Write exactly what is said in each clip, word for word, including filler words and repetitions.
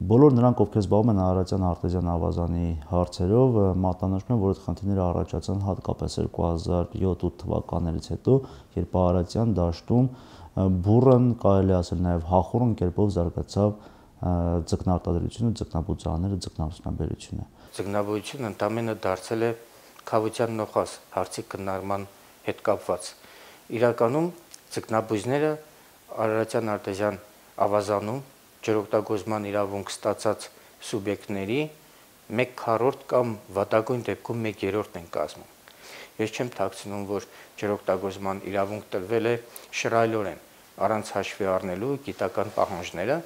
Բոլոր նրանք, ովքեր զբաղվում են արարատյան արտեզյան ավազանի հարցերով, մատնանշում են, որ այդ խնդիրները առաջացան հատկապես երկու հազար յոթ ութ թվականներից հետո, երբ արարատյան դաշտում բուռն, կարելի ասել նաև հախուռն կերպով զարգացավ ձկնարտադրությունը, ձկնաբուծարանները, ձկնարդյունաբերությունը։ Ձկնաբուծությունը ընդամենը դարձել է քավության նոխազ հարցի քննարկման հետ կապված։ Իրականում ձկնաբույզները արարատյան արտեզյան ավազանում ջրօգտագործման իրավունք ստացած սուբյեկտների մեկ քառորդ կամ վատագույն դեպքում մեկ երրորդն են կազմում։ Ես չեմ թաքցնում, որ ջրօգտագործման իրավունք տրվել է շռայլորեն, առանց հաշվի առնելու գիտական պահանջները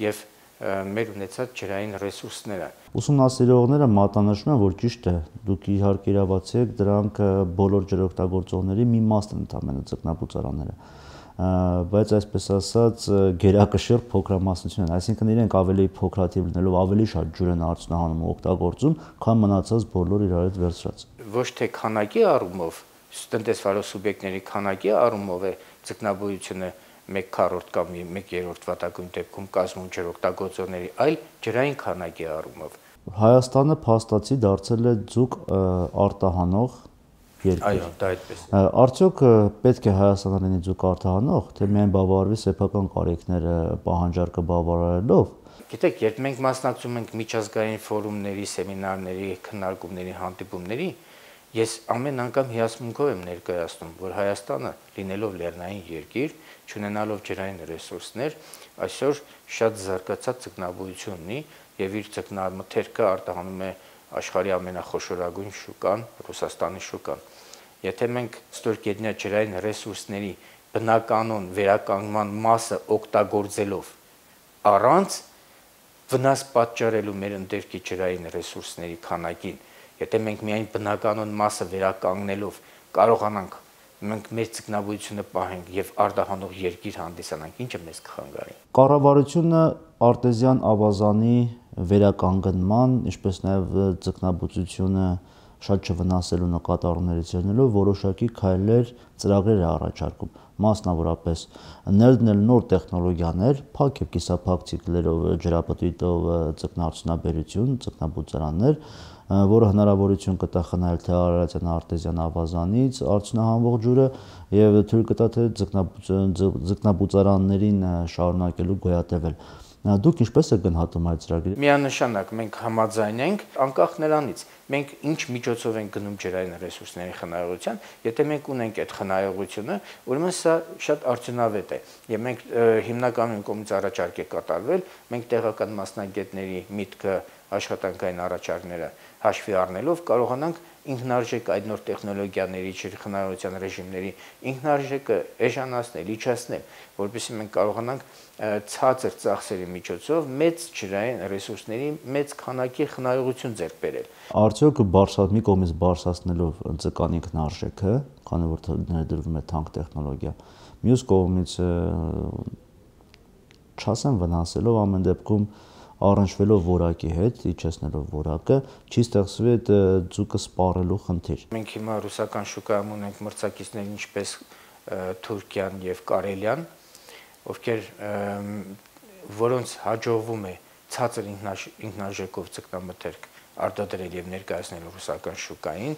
եւ մեր ունեցած ջրային ռեսուրսները։ Ուսումնասիրողները մատնանշում են, որ ճիշտ է, դուք իհարկե իրավացի եք, դրանք բոլոր ջրօգտագործողների մի մասն են ընդամենը ձկնաբուծարանները, բայց այսպես ասած գերակշիռ փոքրամասնություն են, այսինքն իրենք ավելի փոքրաթիվ լինելով ավելի շատ ջուր են արդյունահանում ու օգտագործում, քան մնացած բոլոր իրար հետ վերցրած։ Ոչ թե քանակի առումով, տնտեսվարող սուբյեկտների քանակի առումով է ձկնաբուծությունը մեկ քառորդ կամ մեկ երրորդ վատագույն դեպքում կազմում ջրօգտագործողների, այլ ջրային քանակի առումով։ Հայաստանը փաստացի դարձել է ձուկ արտահանող երկիր։ Այո, դա այդպես է։ Արդյոք պետք է Հայաստանը լինի ձուկ արտահանող, թե միայն բավարարվի սեփական կարիքները պահանջարկը բավարարելով։ Գիտեք, երբ մենք մասնակցում ենք միջազգային ֆորումների, սեմինարների, քննարկումների, հանդիպումների, ես ամեն անգամ հիասմունքով եմ ներկայացնում, որ Հայաստանը, լինելով լեռնային երկիր, չունենալով ջրային ռեսուրսներ, այսօր շատ զարգացած ձկնաբուծություն ունի եւ իր ձկնամթերքը արտահանում է աշխարհի ամենախոշորագույն շուկան, Ռուսաստանի շուկան։ Եթե մենք ստորգետնյա ջրային ռեսուրսների բնականon վերականգնման մասը օգտագործելով առանց վնաս պատճառելու մեր ընդերքի ջրային ռեսուրսների քանակին, եթե մենք միայն բնականon մասը վերականգնելով կարողանանք մենք մեր ձկնաբուծությունը պահենք եւ արտահանող երկիր հանդիսանանք, ինչը մեզ կխանգարի։ Կառավարությունը արտեզյան ավազանի վերականգնման, ինչպես նաեւ ձկնաբուծությունը շատ չվնասելու նկատառումներից ելնելով որոշակի քայլեր, ծրագրեր է առաջարկում, մասնավորապես ներդնել նոր տեխնոլոգիաներ, փակ եւ կիսափակ ցիկլերով ջրապտույտով ձկնարդյունաբերություն, ձկնաբուծարաններ, որը հնարավորություն կտա խնայել թե արարատյան արտեզյան ավազանից արդյունահանվող ջուրը եւ թույլ կտա թե ձկնաբուծարաններին շարունակելու գոյատևել։ Դուք ինչպես եք գնահատում այդ ծրագրերը։ Միանշանակ մենք համաձայն ենք, անկախ նրանից մենք ինչ միջոցով ենք գնում ջրային ռեսուրսների խնայողության, եթե մենք ունենք այդ խնայողությունը, ուրեմն սա շատ արդյունավետ է եւ մենք հիմնականում կողմից առաջարկ է կատարվել, մենք տեղական մասնագետների միտքը, աշխատանքային առաջարկները հաշվի առնելով կարողանանք ինքնարժեք այդ նոր տեխնոլոգիաների ջրխնայողության ռեժիմների ինքնարժեքը էժանացնել, իջացնել, որովհետեւ մենք կարողանանք ցածր ծախսերի միջոցով մեծ ջրային ռեսուրսների մեծ քանակի խնայողություն ձեռք բերել։ Արդյոք բարսած մի կողմից բարսացնելով ձկան ինքնարժեքը, քանի որ ներդրվում է թանկ տեխնոլոգիա, մյուս կողմից չասեմ վնասելով ամեն դեպքում առնչվելով որակի հետ, իջեցնելով որակը, չի ստեղծվի այդ ձուկը սպառելու խնդիր։ Մենք հիմա ռուսական շուկայում ունենք մրցակիցներ ինչպես Թուրքիան եւ Կարելիան, ովքեր որոնց հաջողվում է ցածր ինքնարժեքով ձկնամթերք արտադրել եւ ներկայացնել ռուսական շուկային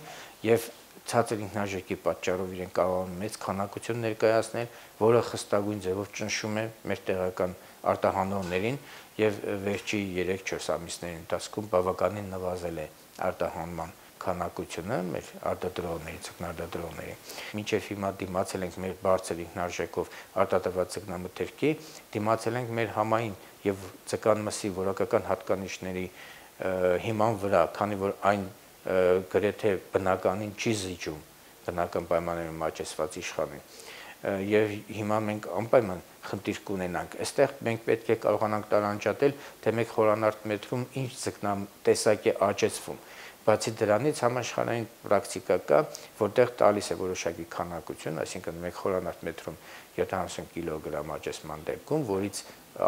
եւ ցածր ինքնարժեքի պատճառով իրենք կարող են մեծ քանակություն ներկայացնել, որը խստագույն ձևով ճնշում է մեր տեղական արտահանողներին եւ վերջի երեք չորս ամիսների ընթացքում բավականին նվազել է արտահանման քանակությունը մեր արտադրողների, ձկնարտադրողների։ Մինչև հիմա դիմացել ենք մեր բարձր ինքնարժեքով արտադրված ձկնամթերքի, դիմացել ենք մեր համային եւ ձկան մսի որակական հատկանիշների հիման վրա, քանի որ այն գրեթե բնականին չի զիջում բնական պայմաններում աճեցված իշխանին։ Եվ հիմա մենք անպայման խնդիր կունենանք։ Այստեղ մենք պետք է կարողանանք տարանջատել, թե մեկ խորանարդ մետրում ինչ ձկնատեսակ է աճեցվում։ Բացի դրանից համաշխարհային պրակտիկա կա, որտեղ տալիս է որոշակի քանակություն, այսինքն մեկ խորանարդ մետրում յոթանասուն կիլոգրամ աճեցման դեպքում, որից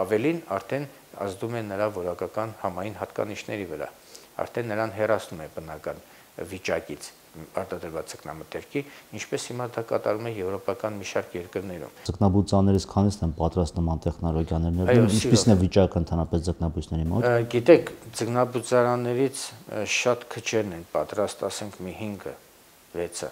ավելին արդեն ազդում է նրա որակական համային հատկանիշների վրա, արդեն նրան հեռացնում է բնական վիճակից։ արտադրված ձկնամթերքի, ինչպես հիմա դա կատարվում է եվրոպական մի շարք երկրներում։ Ձկնաբուծաներից քանիսն են պատրաստ նման տեխնոլոգիաներ ներդրում, ինչպիսին է վիճակը ընդհանրապես ձկնաբույսների մոտ։ Գիտեք, ձկնաբուծարաններից շատ քչերն են պատրաստ, ասենք մի հինգը, վեցը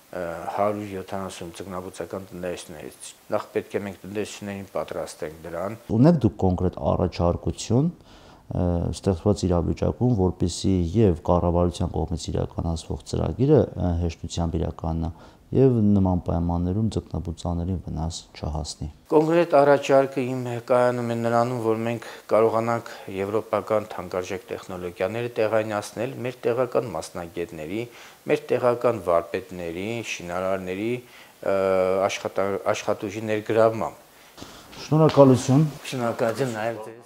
հարյուր յոթանասուն ձկնաբուծական տնտեսություններից։ Նախ պետք է մենք տնտեսություններին պատրաստենք դրան։ Ունեք դուք կոնկրետ առաջարկություն ստեղծված իրավիճակում, որպեսզի եւ կառավարության կողմից իրականացվող ծրագիրը հեշտությամբ իրականանա եւ նման պայմաններում ձկնաբուծաներին վնաս չհասնի։ Կոնկրետ առաջարկը իմ կայանում է նրանում, որ մենք կարողանանք եվրոպական թանկարժեք տեխնոլոգիաները տեղայնացնել մեր տեղական մասնագետների, մեր տեղական վարպետների, շինարարների աշխատուժի ներգրավմամբ։ Շնորհակալություն։ Շնորհակալություն նաև